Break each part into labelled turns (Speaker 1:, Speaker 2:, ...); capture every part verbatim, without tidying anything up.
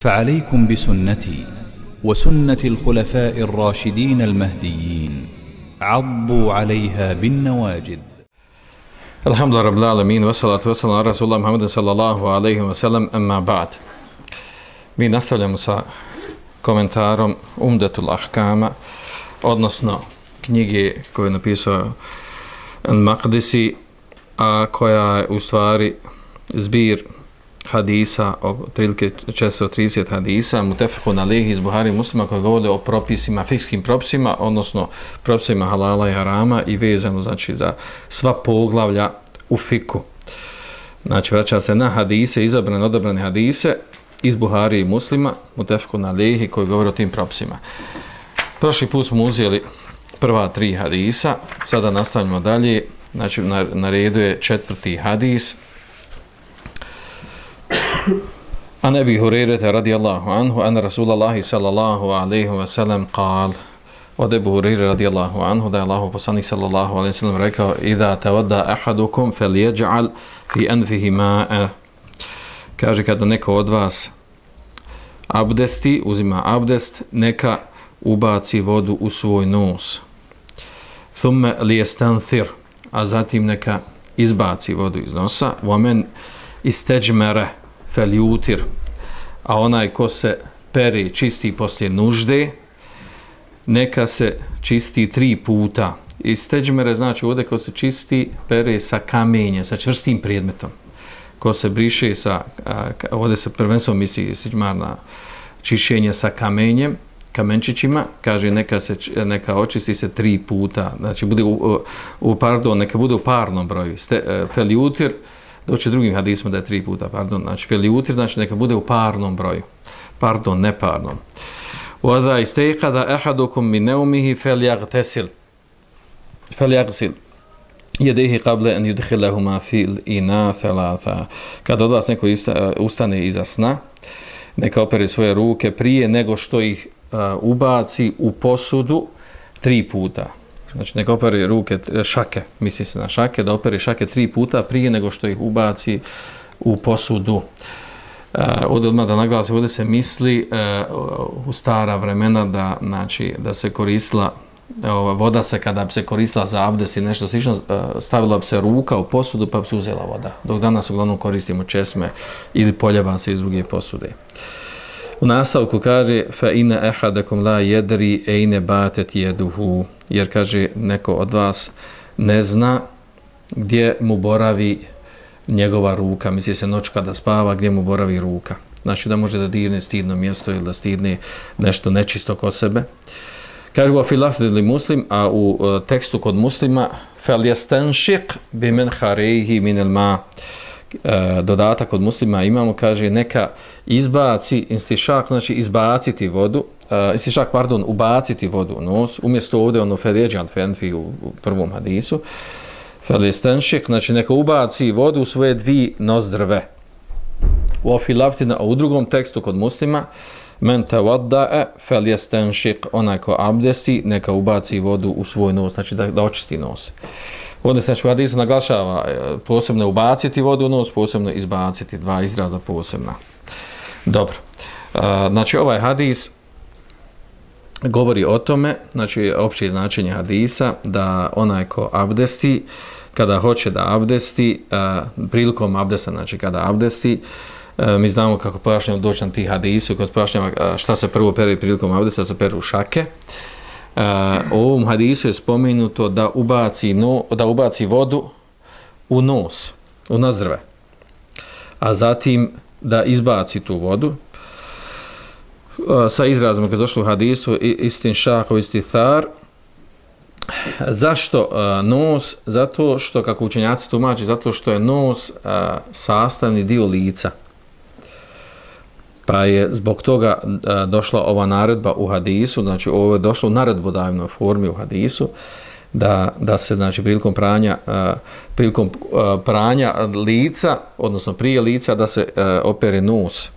Speaker 1: فعليكم بسنتي وسنة الخلفاء الراشدين المهديين عضوا عليها بالنواجذ.
Speaker 2: الحمد لله رب العالمين والصلاة والسلام على رسول الله محمد صلى الله عليه وسلم أما بعد. Mi nastavljamo sa komentarom Umdatul Ahkama, odnosno knjige koju je napisao Al-Maqdisi, a koja je u stvari zbir hadisa, otprilike četiristo trideset hadisa, mutefekun alejhi iz Buhari i Muslima, koji govore o propisima, fikskim propisima, odnosno propisima halala i harama i vezano znači za sva poglavlja u fiku. Znači vraća se na hadise, izabrane, odabrane hadise iz Buhari i Muslima, mutefekun alejhi, koji govore o tim propisima. Prošli put smo uzeli prva tri hadisa, sada nastavljamo dalje, znači na, na redu je četvrti hadis. An Ebi Hurejrete radijallahu anhu, an Rasulallahi sallallahu alaihi wa sallam qal, od Ebu Hurejre radijallahu anhu, da je Allahu poslanik sallallahu alaihi wa sallam rekao, idha tavadda ahadukum fel jeđa'al fi anfihi ma'a. Kaže, kada neko od vas abdesti, uzima abdest, neka ubaci vodu u svoj nos. Thumme lijestanthir, a zatim neka izbaci vodu iz nosa. Vomen isteđmere feljutir, a onaj ko se pere čisti poslije nužde, neka se čisti tri puta. Isteđmere znači ovdje ko se čisti, pere sa kamenjem, sa čvrstim predmetom. Ko se briše sa, ovdje se prvenstveno misli istiđmar na čišćenje sa kamenjem, kamenčićima, kaže neka se neka očisti se tri puta, znači bude u, u pardon, neka bude u parnom broju. Ste, feljutir, doći drugim hadisima da je tri puta, pardon, znači feljutir, znači neka bude u parnom broju, pardon, ne parnom. Wada istayqada ahadukum min nawmihi falyaghtasil falyaghsil yadayhi qabla an yudkhilahuma fil ina thalatha. Kad od vas neko ustane iza sna, neka opere svoje ruke prije nego što ih uh, ubaci u posudu tri puta. Znači neka opere ruke, šake, misli se na šake, da opere šake tri puta prije nego što ih ubaci u posudu. Uh, ovdje odmah da naglasi, ovdje se misli uh, u stara vremena da, znači, da se koristila, uh, voda se kada bi se koristila za abdest i nešto slično, uh, stavila bi se ruka u posudu pa bi se uzela voda. Dok danas uglavnom koristimo česme ili poljevance iz druge posude. U nastavku kaže fa inna ahadakum la yadri ayna batat yaduhu, jer kaže neko od vas ne zna gdje mu boravi njegova ruka, misli se noć kada spava, gdje mu boravi ruka. Znači da može da dirne stidno mjesto ili da stidne nešto nečisto kod sebe. Kaže wa fi lafzi Muslim, a u uh, tekstu kod Muslima falyastanshiq biman kharayhi min al-ma. Uh, dodatak od Muslima imamo, kaže neka izbaci, istišak, znači izbaciti vodu, uh, istišak, pardon, ubaciti vodu u nos, umjesto ovdje ono feređan fenfi u, u prvom hadisu, feljestanšik, znači neka ubaci vodu u svoje dvije nozdrve. U ofilaftina, a u drugom tekstu kod Muslima, men tawadda'a feljestanšik, onaj ko abdesti, neka ubaci vodu u svoj nos, znači da, da očisti nos. Ovdje se znači u hadisu naglašava posebno ubaciti vodu u nos, posebno izbaciti, dva izraza posebna. Dobro. Znači ovaj hadis govori o tome, znači opće značenje hadisa, da onaj ko abdesti, kada hoće da abdesti, prilikom abdesta, znači kada abdesti, mi znamo kako pojašnjamo doći na tih hadisu, kad pojašnjamo šta se prvo pere prilikom abdesta, se peru šake. Uh, u ovom hadisu je spomenuto da ubaci, no, da ubaci vodu u nos, u nozdrve, a zatim da izbaci tu vodu uh, sa izrazom kad je došlo u hadisu istin šaho istithar. Zašto uh, nos? Zato što, kako učenjaci tumači, zato što je nos uh, sastavni dio lica. Pa je zbog toga a, došla ova naredba u hadisu, znači ovo je došlo u naredbodavnoj formi u hadisu, da, da se znači prilikom pranja, a, prilikom a, pranja lica, odnosno prije lica, da se a, opere nos.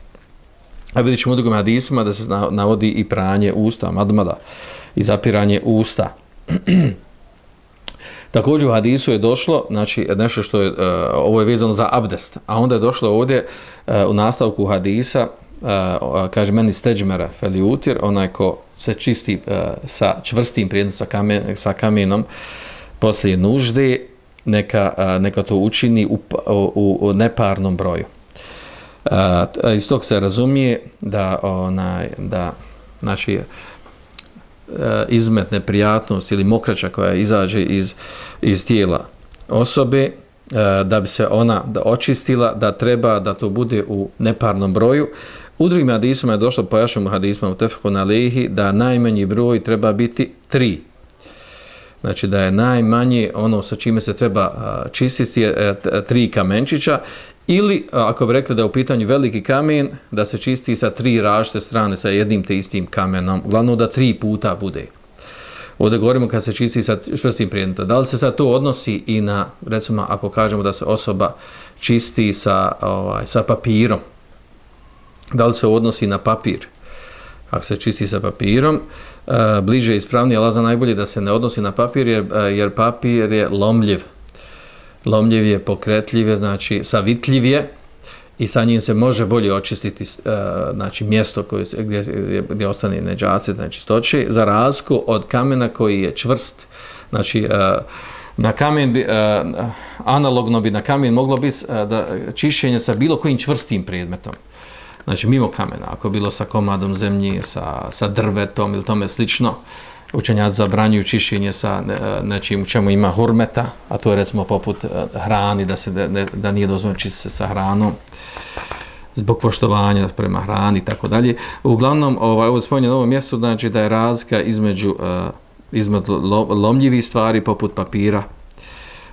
Speaker 2: A vidjet ćemo u drugim hadisima da se navodi i pranje usta, madmada, i zapiranje usta. Također u hadisu je došlo, znači nešto što je, uh, ovo je vezano za abdest, a onda je došlo ovdje uh, u nastavku hadisa kaže meni steđmera feliutir, onaj ko se čisti uh, sa čvrstim predmetom, sa, kamen, sa kamenom poslije nužde, neka, uh, neka to učini u, u, u neparnom broju. Uh, iz tog se razumije da, onaj, da znači, uh, izmet neprijatnost ili mokraća koja izađe iz, iz tijela osobe, uh, da bi se ona da očistila, da treba da to bude u neparnom broju. U drugim hadisima je došlo, pojašnjamo hadisima u Tefekun Alehi, da najmanji broj treba biti tri. Znači da je najmanje ono sa čime se treba čistiti je tri kamenčića, ili ako bi rekli da je u pitanju veliki kamen, da se čisti sa tri različite strane, sa jednim te istim kamenom. Glavno da tri puta bude. Ovdje govorimo kad se čisti sa čvrstim predmetom. Da li se sad to odnosi i na, recimo, ako kažemo da se osoba čisti sa, ovaj, sa papirom, da li se odnosi na papir? Ako se čisti sa papirom, uh, bliže i ispravnije, ali za najbolje da se ne odnosi na papir, jer, uh, jer papir je lomljiv. Lomljiv je, pokretljiv je, znači savitljiv je i sa njim se može bolje očistiti uh, znači, mjesto koje, gdje, gdje ostane neđaset, znači stoče, za razliku od kamena koji je čvrst. Znači, uh, na kamen bi, uh, analogno bi na kamen moglo biti uh, da čišćenje sa bilo kojim čvrstim predmetom. Znači, mimo kamena, ako bilo sa komadom zemlje, sa, sa drvetom ili tome slično, učenjaci zabranjuju čišćenje sa nečim u čemu ima hurmeta, a to je recimo poput hrani, da, se, da, da nije dozvoljeno čistiti se sa hranom, zbog poštovanja prema hrani i tako dalje. Uglavnom, ovaj, ovo spominje na ovom mjestu, znači da je razlika između, uh, između lomljivih stvari poput papira,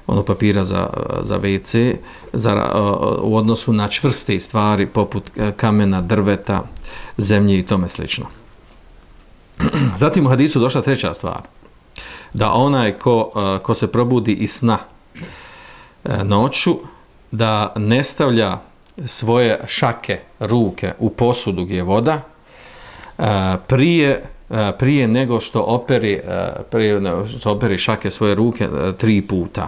Speaker 2: ono papira za, za ve ce, za, uh, u odnosu na čvrste stvari poput kamena, drveta, zemlje i tome slično. Zatim u hadisu došla treća stvar, da onaj ko, uh, ko se probudi iz sna uh, noću, da ne stavlja svoje šake, ruke u posudu gdje je voda, uh, prije, uh, prije nego što operi, uh, prije što operi šake svoje ruke uh, tri puta.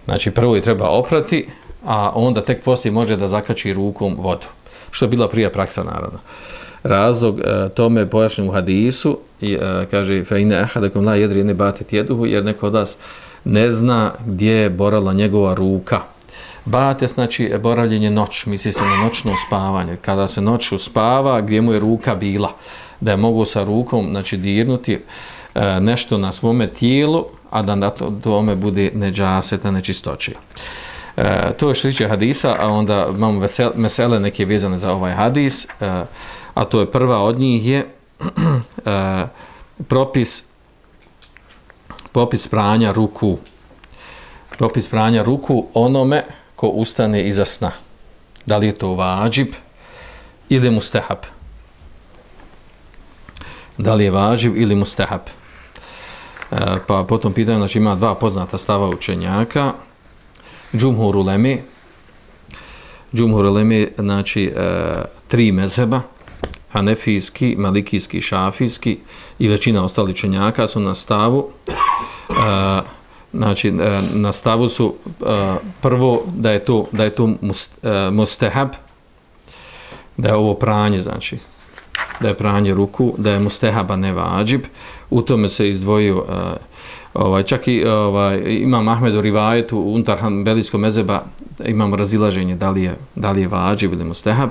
Speaker 2: Znači, prvo je treba oprati, a onda tek poslije može da zakači rukom vodu. Što je bila prija praksa, naravno. Razlog e, tome pojašnjen u hadisu, i, e, kaže, fe ine ahadakum la jedri ne batit jeduhu, jer neko od vas ne zna gdje je boravila njegova ruka. Batet, znači, boravljenje noć, misli se na noćno spavanje. Kada se noću spava, gdje mu je ruka bila, da je mogu sa rukom, znači, dirnuti e, nešto na svome tijelu, a da na to, tome bude neđaseta, nečistoće. E, to je šliče hadisa, a onda imamo vesel, mesele neke vezane za ovaj hadis, e, a to je prva od njih je e, propis popis pranja ruku. Propis pranja ruku onome ko ustane iza sna. Da li je to vađib ili mustehab? Da li je vađib ili mustehab? E, pa potom pitanju, znači ima dva poznata stava učenjaka. Džumhur uleme, Džumhur uleme, znači e, tri mezheba, hanefijski, malikijski, šafijski i većina ostalih učenjaka su na stavu, e, znači e, na stavu su e, prvo da je to, da je to must, e, mustehab, da je ovo pranje, znači da je pranje ruku, da je mustehaba ne vađib, u tome se izdvojio e, Ovaj, čak i ovaj, imam Ahmed u rivajetu unutar hanbelijskog mezheba imamo razilaženje da li je, da li je vađib ili mustehab.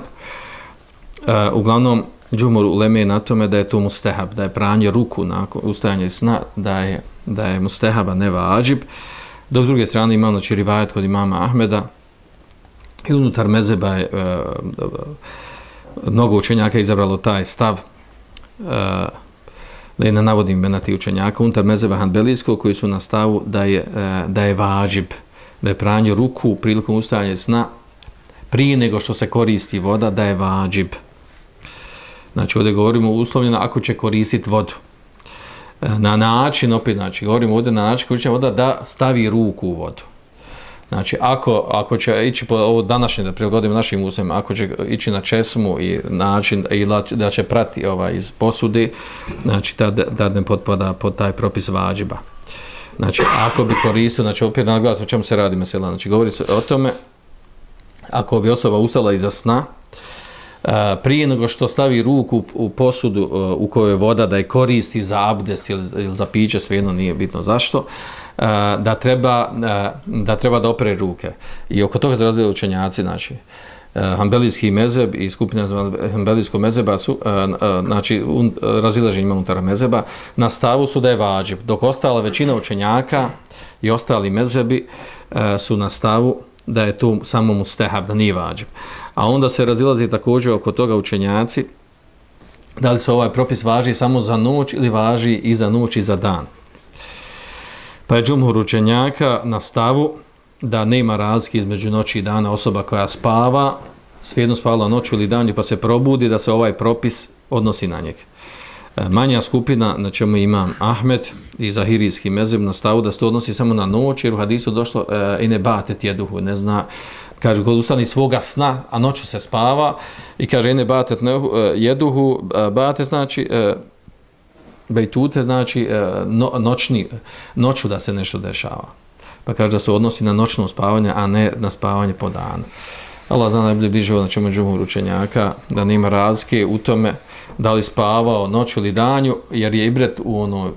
Speaker 2: E, uglavnom, džumhur uleme je na tome da je to mustehab, da je pranje ruku nakon ustajanja iz sna, da je, da je mustehaba ne vađib. Dok s druge strane imamo znači, rivajet kod imama Ahmeda i unutar mezheba je e, e, mnogo učenjaka izabralo taj stav, e, da je ne navodim imena tih učenjaka, unutar mezheba hanbelijskog koji su na stavu da je, da je vađib, da je pranje ruku prilikom ustajanja sna prije nego što se koristi voda, da je vađib. Znači, ovdje govorimo uslovljeno ako će koristiti vodu. Na način, opet, znači, govorimo ovdje na način koji će voda da stavi ruku u vodu. Znači, ako, ako će ići po ovo današnje, da prilagodimo našim uslovima, ako će ići na česmu i način, i da će prati ovaj, iz posude, znači, da, da ne potpada pod taj propis vađiba. Znači, ako bi koristio, znači, opet naglasno o čemu se radi mesela, znači, govori se o tome, ako bi osoba ustala iza sna, prije nego što stavi ruku u posudu u kojoj je voda, da je koristi za abdest ili, ili za piće, svejedno nije bitno zašto, da treba da treba da opere ruke. I oko toga se razvijaju učenjaci, znači Hanbelijski mezheb i skupina Hanbelijskog mezheba su znači razilaženje unutar mezheba na stavu su da je vađib, dok ostala većina učenjaka i ostali mezhebi su na stavu da je to samo mustehab, da nije vađib. A onda se razilazi također oko toga učenjaci da li se ovaj propis važi samo za noć ili važi i za noć i za dan. Pa je džumhur učenjaka na stavu da nema razlike između noći i dana. Osoba koja spava, svejedno spavala noću ili danju pa se probudi, da se ovaj propis odnosi na njeg. Manja skupina, na čemu imam Ahmed i Zahirijski mezheb, na stavu da se to odnosi samo na noć, jer u hadisu došlo i ne batet jeduhu, ne zna, kaže, kod ustani svoga sna, a noću se spava, i kaže, i ne batet jeduhu, batet znači, bejtute znači no, noćni, noću da se nešto dešava. Pa kaže da se odnosi na noćno spavanje, a ne na spavanje po danu. Allah zna najbolje bliže na čemu džumhur učenjaka, da nema razlike u tome da li spavao noću ili danju, jer je ibret u ono,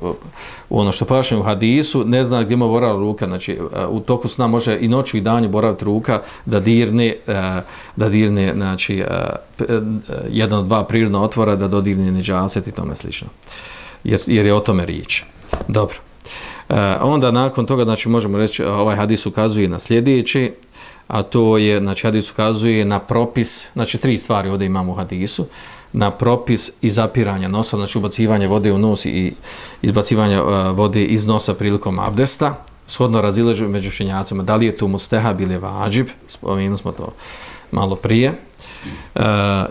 Speaker 2: u ono što paše u hadisu, ne zna gdje mu boravila ruka, znači u toku sna može i noću i danju boraviti ruka da dirne, da dirne znači, jedan od dva prirodna otvora, da dodirne nedžaset i tome slično. Jer, jer je o tome riječ. Dobro. E, onda nakon toga, znači možemo reći, ovaj hadis ukazuje na sljedeći, a to je, znači hadis ukazuje na propis, znači tri stvari ovdje imamo u hadisu, na propis izapiranja nosa, znači ubacivanje vode u nos i izbacivanje uh, vode iz nosa prilikom abdesta, shodno razilaženju među učenjacima, da li je to mustehab ili vađib, spomenuli smo to malo prije. Uh,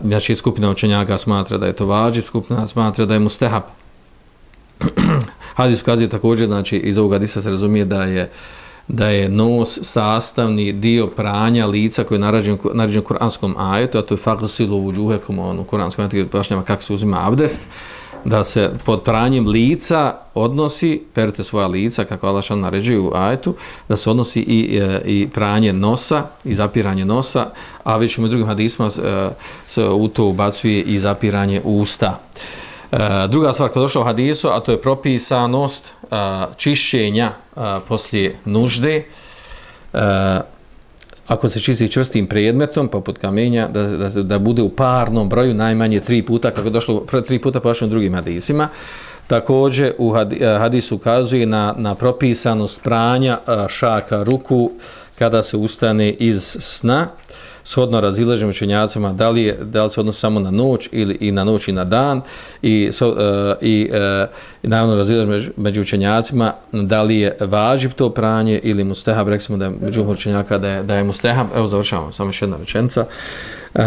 Speaker 2: znači skupina učenjaka smatra da je to vađib, skupina smatra da je mustehab. Hadis ukazuje također, znači iz ovog hadisa se razumije da je da je nos sastavni dio pranja lica koji je naređen naređen u kuranskom ajetu, a to je faghsilu vujuhakum, on u kuranskom ajetu pojašnjava kako se uzima abdest, da se pod pranjem lica odnosi, perite svoja lica, kako Allah šan naređuje u ajetu, da se odnosi i, i pranje nosa, i zapiranje nosa, a već u drugim hadisima se u to ubacuje i zapiranje usta. Druga stvar koja je došla u hadisu, a to je propisanost a, čišćenja a, poslije nužde. A, ako se čisti čvrstim predmetom, poput kamenja, da, da, da bude u parnom broju najmanje tri puta, kako je došlo tri puta pošlo u drugim hadisima. Također u hadisu ukazuje na, na propisanost pranja a, šaka ruku kada se ustane iz sna, shodno razilaženju učenjacima da li je, da li se odnosi samo na noć ili i na noć i na dan, i so, uh, i, uh, i naravno razilaženju među, među učenjacima da li je važib to pranje ili mustehab. Rekli smo da je među učenjaka da je, da je mustehab. Evo završavamo, samo još jedna rečenica. Uh,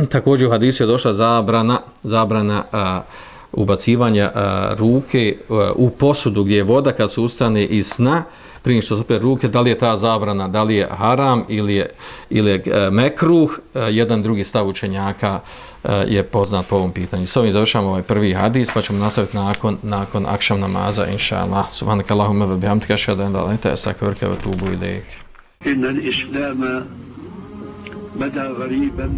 Speaker 2: također u hadisu je došla zabrana zabrana uh, ubacivanja uh, ruke uh, u posudu gdje je voda kad se ustane iz sna, prije što se opere ruke, da li je ta zabrana, da li je haram ili je, ili je uh, mekruh. Uh, jedan drugi stav učenjaka uh, je poznat po ovom pitanju. S ovim završamo ovaj prvi hadis, pa ćemo nastaviti nakon, nakon akšam namaza, inša Allah. Subhanak Allahumma wa bihamdika, ashhadu an la ilaha illa anta, astaghfiruka wa atubu ilayk.
Speaker 3: Inna al-islama bada ghariban.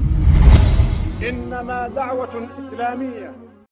Speaker 3: Innama da'watun islamiyya